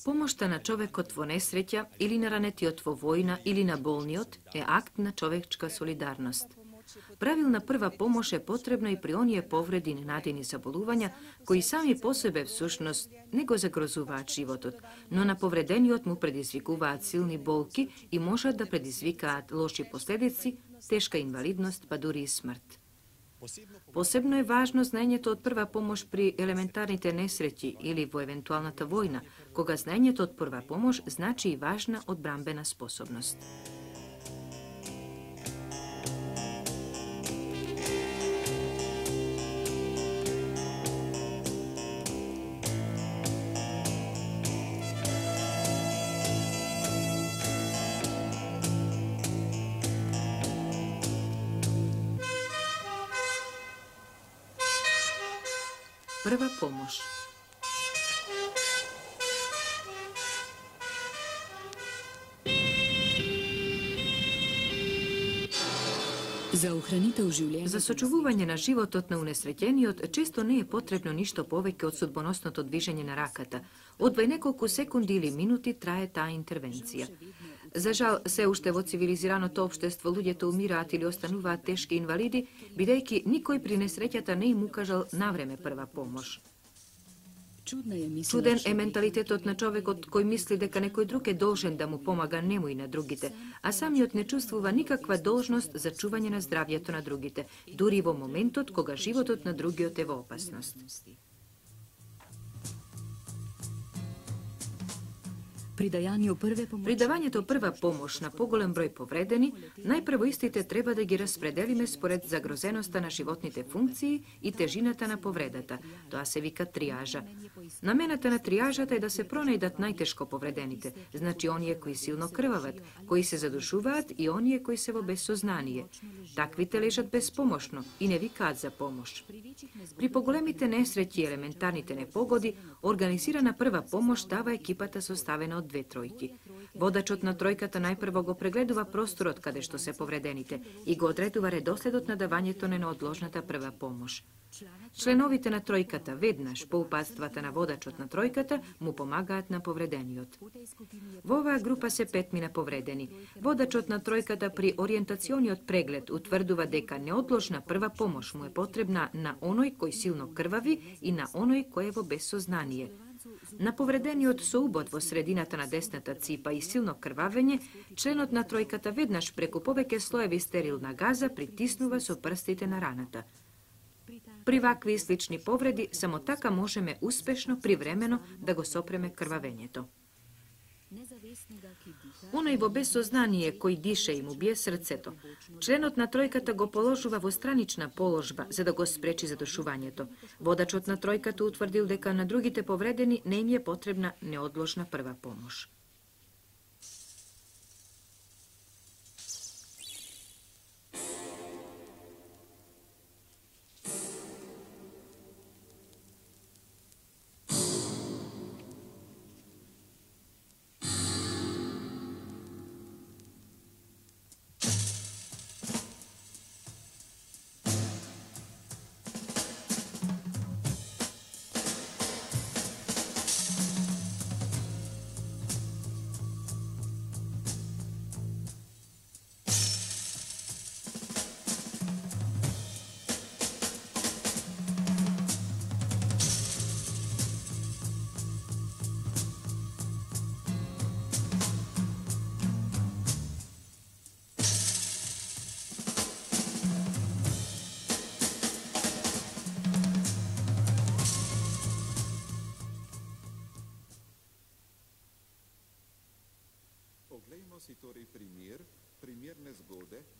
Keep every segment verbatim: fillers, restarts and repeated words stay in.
Помошта на човекот во несреќа или на ранетиот во војна или на болниот е акт на човечка солидарност. Правилна прва помош е потребна и при оние повреди и ненадени заболувања кои сами по себе всушност не го загрозуваат животот, но на повредениот му предизвикуваат силни болки и можат да предизвикаат лоши последици, тешка инвалидност, па дури и смрт. Посебно е важно знаењето од прва помош при елементарните несреќи или во евентуалната војна, кога знаењето од прва помош значи и важна одбранбена способност. Прва помош. За охранител живлење. За сочувување на животот на унесреќениот често не е потребно ништо повеќе од судбоносното движење на раката. Одвај неколку секунди или минути трае таа интервенција. За жал, се уште во цивилизираното општество луѓето умираат или остануваат тешки инвалиди, бидејќи никој при несреќата не им укажал навреме прва помош. Чуден е менталитетот на човекот кој мисли дека некој друг е должен да му помага нему и на другите, а самиот не чувствува никаква должност за чување на здравјето на другите, дури во моментот кога животот на другиот е во опасност. При давањето прва помош на поголем број повредени, најпрво истите треба да ги распределиме според загрозеноста на животните функции и тежината на повредата. Тоа се вика триажа. Намената на триажата е да се пронајдат најтешко повредените, значи оние кои силно крвават, кои се задушуваат и оние кои се во безсознание. Таквите лежат безпомошно и не викаат за помош. При поголемите несреќи и елементарните непогоди, организирана прва помош дава екипата составена од две тројки. Водачот на тројката најпрво го прегледува просторот каде што се повредените и го одредува редоследот на давањето на неодложната прва помош. Членовите на тројката веднаш по упатствата на водачот на тројката му помагаат на повредениот. Во оваа група се петмина повредени. Водачот на тројката при ориентациониот преглед утврдува дека неодложна прва помош му е потребна на оној кој силно крвави и на оној кој е во безсознание. На повредениот со убод во средината на десната ципа и силно крвавење, членот на тројката веднаш преку повеќе слоеви стерилна газа притиснува со прстите на раната. При вакви и слични повреди, само така можеме успешно привремено да го сопреме крвавењето. Оној во безсознание кој дише и му бие срцето, членот на тројката го положува во странична положба за да го спречи задушувањето. Водачот на тројката утврдил дека на другите повредени не им е потребна неодложна прва помош.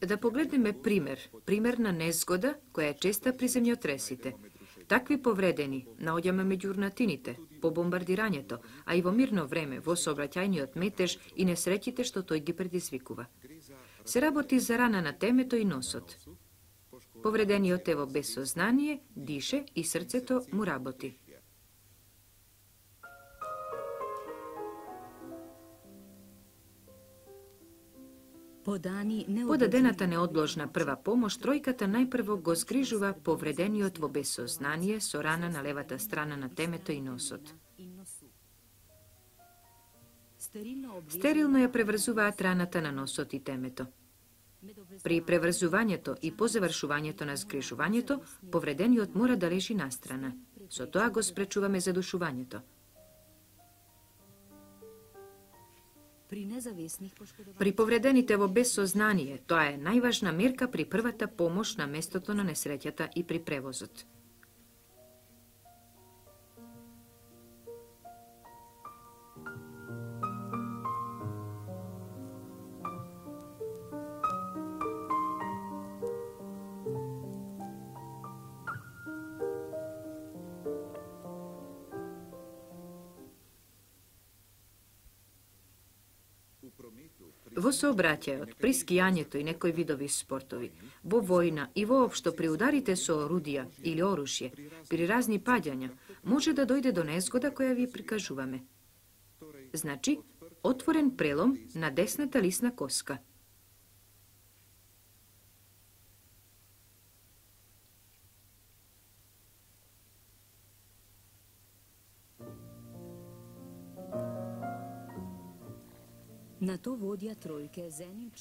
Да погледнеме пример, пример на незгода која е честа при земјотресите. Такви повредени наоѓаме меѓу урнатините, по бомбардирањето, а и во мирно време, во сообраќајниот метеж и несреќите што тој ги предизвикува. Се работи за рана на темето и носот. Повредениот е во безсознание, дише и срцето му работи. По дадената неодложна прва помош, тројката најпрво го згрижува повредениот во безсознание со рана на левата страна на темето и носот. Стерилно ја преврзуваат раната на носот и темето. При преврзувањето и по завршувањето на згрижувањето, повредениот мора да лежи настрана. Со тоа го спречуваме задушувањето. При повредените во безсознание, тоа е најважна мерка при првата помош на местото на несреќата и при превозот. Во сообраќајот, при скијањето и некои видови спортови, во војна и воопшто при ударите со орудија или оружје, при разни паѓања, може да дојде до незгода која ви прикажуваме. Значи, отворен прелом на десната лисна коска.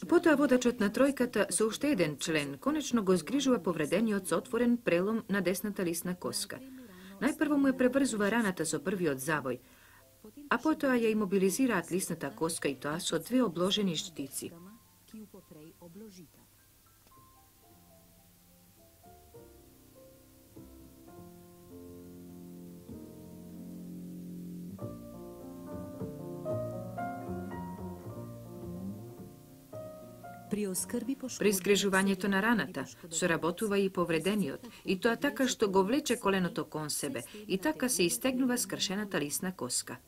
Потоа водачот на тројката со уште еден член конечно го згрижува повредениот со отворен прелом на десната лисна коска. Најпрво му ја преврзува раната со првиот завој, а потоа ја имобилизираат лисната коска и тоа со две обложени штици. При згрижувањето на раната соработува и повредениот, и тоа така што го влече коленото кон себе, и така се истегнува скршената лисна коска.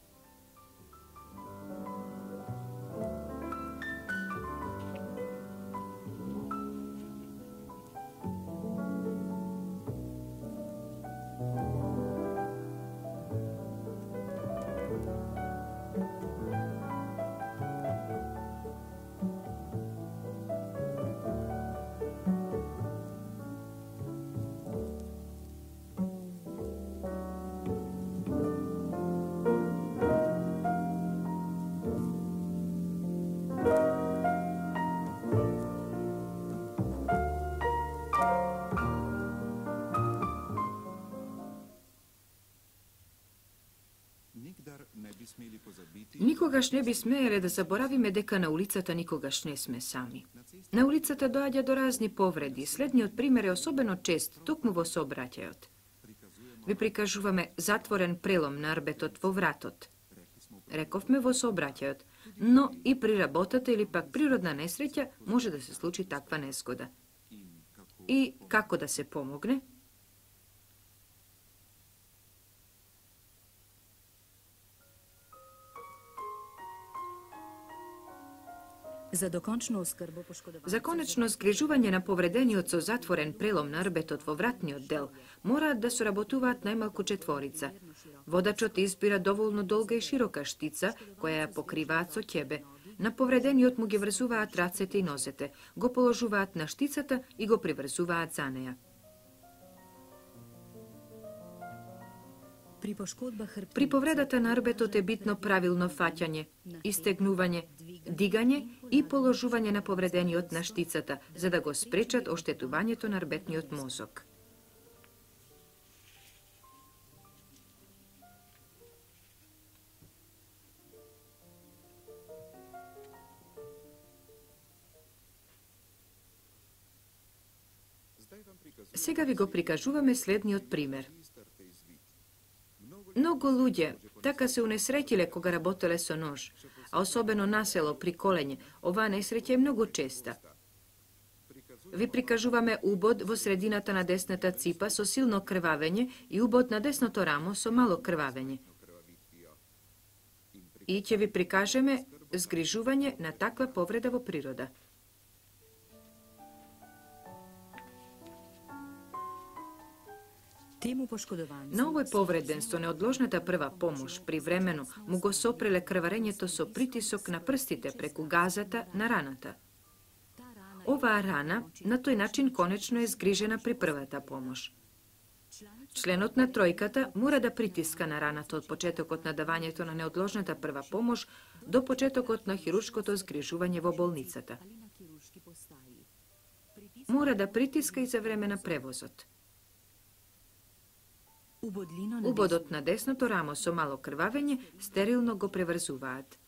Никогаш не би смееле да заборавиме дека на улицата никогаш не сме сами. На улицата доаѓа до разни повреди. Следниот пример е особено чест, токму во сообраќајот. Ви прикажуваме затворен прелом на арбетот во вратот. Рековме во сообраќајот, но и при работата или пак природна несреќа може да се случи таква незгода. И како да се помогне? За докончно оскрбо За конечно згрижување на повредениот со затворен прелом на арбетот во вратниот дел, мораат да соработуваат најмалку четворица. Водачот избира доволно долга и широка штица, која ја покриваат со ќебе. На повредениот му ги врзуваат рацете и нозете, го положуваат на штицата и го приврзуваат за неја. При повредата на арбетот е битно правилно фаќање, истегнување, дигање и положување на повредениот на штицата, за да го спречат оштетувањето на арбетниот мозок. Сега ви го прикажуваме следниот пример. Многу луѓе така се унесреќиле кога работеле со нож, а особено насело при колење, оваа несреќа е многу честа. Ви прикажуваме убод во средината на десната ципа со силно крвавење и убод на десното рамо со мало крвавење. И ќе ви прикажеме згрижување на таква повреда во природа. На овој повреден со неодложната прва помош привремено му го сопреле крварењето со притисок на прстите преку газата на раната. Оваа рана на тој начин конечно е згрижена при првата помош. Членот на тројката мора да притиска на раната од почетокот на давањето на неодложната прва помош до почетокот на хируршкото згрижување во болницата. Мора да притиска и за време на превозот. Убодот на десното рамо со мало крвавење стерилно го преврзуваат.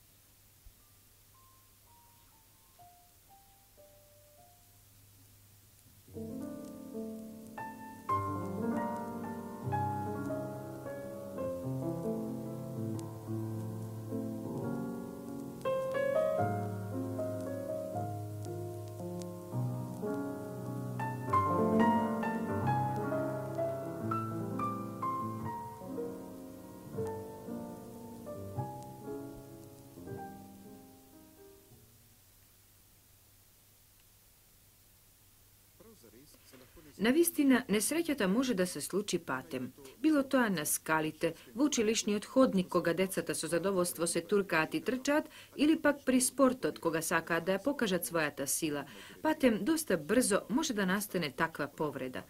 Навистина, несреќата може да се случи патем. Било тоа на скалите, во училишниот ходник кога децата со задоволство се туркаат и трчаат, или пак при спортот кога сакаат да ја покажат својата сила. Патем доста брзо може да настане таква повреда.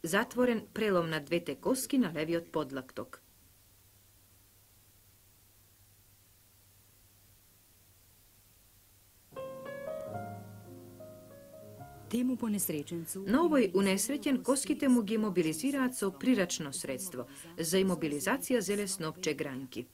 Затворен прелом на двете коски на левиот подлакток. На овој унесреќен коските му ги мобилизираат со прирачно средство. За имобилизација зеле снопче гранки.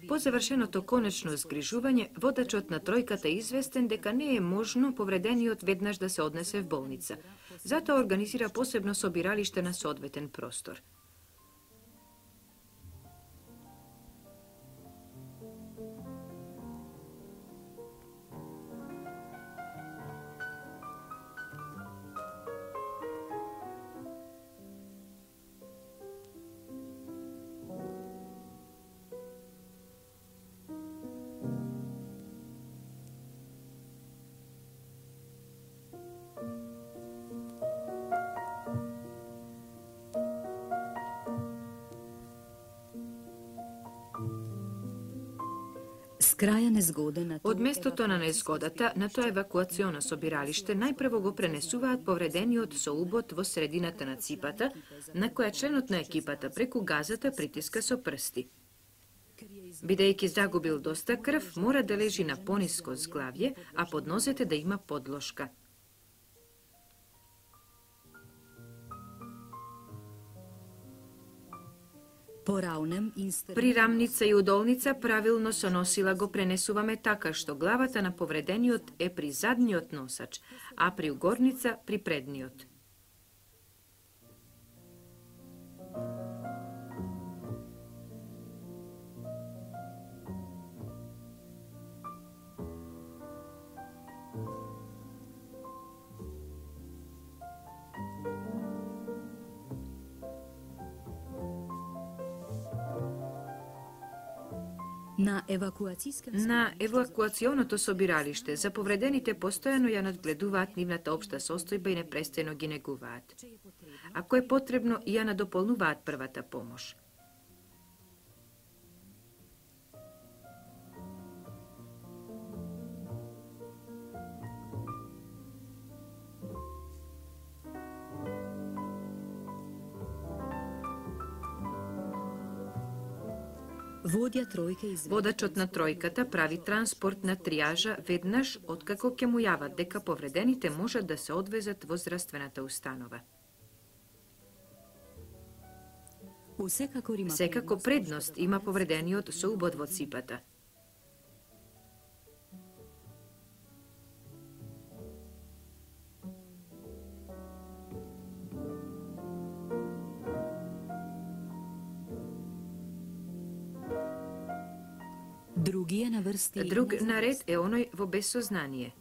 По завршеното конечно згрижување, водачот на тројката е известен дека не е можно повредениот веднаш да се однесе в болница. Затоа организира посебно собиралиште на соодветен простор. Од местото на незгодата на тоа евакуационо собиралиште најпрво го пренесуваат повредениот со убод во средината на ципата, на која членот на екипата преку газата притиска со прсти. Бидејќи загубил доста крв, мора да лежи на пониско зглавје, а под нозете да има подложка. При рамница и удолница правилно со носила го пренесуваме така што главата на повредениот е при задниот носач, а при угорница при предниот. На евакуационото собиралиште за повредените постојано ја надгледуваат нивната општа состојба и непрестано ги негуваат. Ако е потребно, ја надополнуваат првата помош. Водачот на тројката прави транспорт на триажа веднаш откако ќе му јават дека повредените можат да се одвезат во здравствената установа. Секако предност има повредениот со убод во ципата. Други е на врсти. Друг наред е оној во безсознание.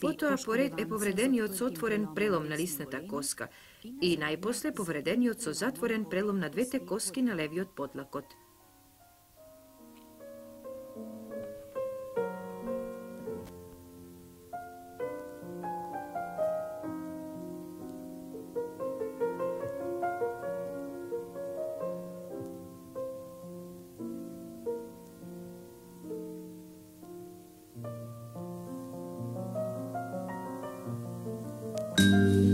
Потоа поред е повредениот со отворен прелом на лисната коска и најпосле повредениот со затворен прелом на двете коски на левиот подлакот. Thank you.